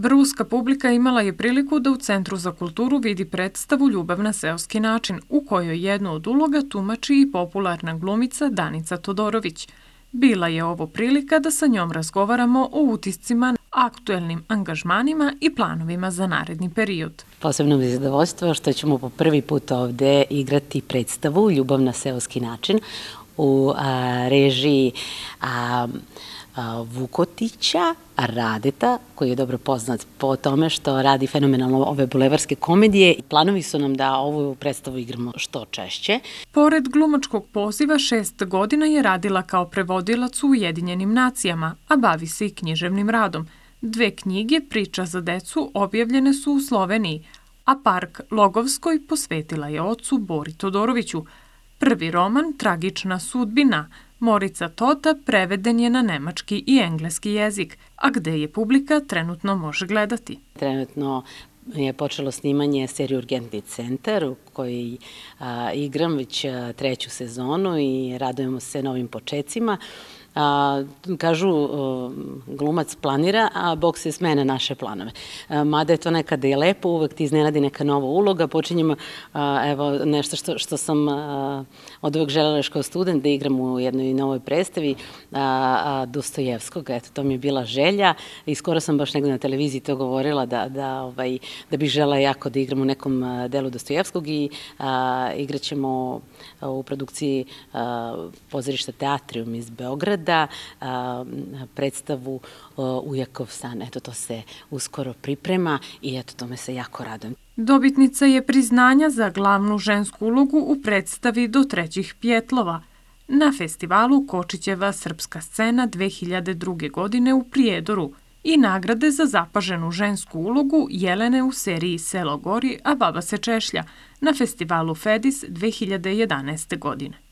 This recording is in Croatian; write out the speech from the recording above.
Ruska publika imala je priliku da u Centru za kulturu vidi predstavu Ljubav na seoski način, u kojoj jednu od uloga tumači i popularna glumica Danica Todorović. Bila je ovo prilika da sa njom razgovaramo o utiscima, aktuelnim angažmanima i planovima za naredni period. Posebno mi je zadovoljstvo što ćemo po prvi put ovde igrati predstavu Ljubav na seoski način u režiji Vukotića, Radeta, koji je dobro poznat po tome što radi fenomenalno ove bulevarske komedije. Planovi su nam da ovu predstavu igramo što češće. Pored glumačkog poziva 6 godina je radila kao prevodilac u Ujedinjenim nacijama, a bavi se i književnim radom. 2 knjige Priča za decu objavljene su u Sloveniji, a Park Logovskoj posvetila je ocu Bori Todoroviću. Prvi roman Tragična sudbina Morica Tota preveden je na nemački i engleski jezik, a gde je publika trenutno može gledati. Trenutno je počelo snimanje serije Urgentni centar u kojoj igram već 3. sezonu i radujemo se novim počecima. Kažu, glumac planira, a Bog se smeje na naše planove. Mada je to nekada i lepo, uvek ti iznenadi neka nova uloga. Počinjemo, evo, nešto što sam od uvek želela još kao student, da igram u jednoj novoj predstavi Dostojevskog. Eto, to mi je bila želja i skoro sam baš negde na televiziji to govorila da bih želela jako da igram u nekom delu Dostojevskog i igraćemo u produkciji pozorišta Teatrium iz Beograda, predstavu Ujakov san. Eto, to se uskoro priprema i eto, tome se jako radujem. Dobitnica je priznanja za glavnu žensku ulogu u predstavi Do trećih pjetlova na festivalu Kočićeva srpska scena 2002. godine u Prijedoru i nagrade za zapaženu žensku ulogu Jelene u seriji Selo gori, a baba se češlja na festivalu Fedis 2011. godine.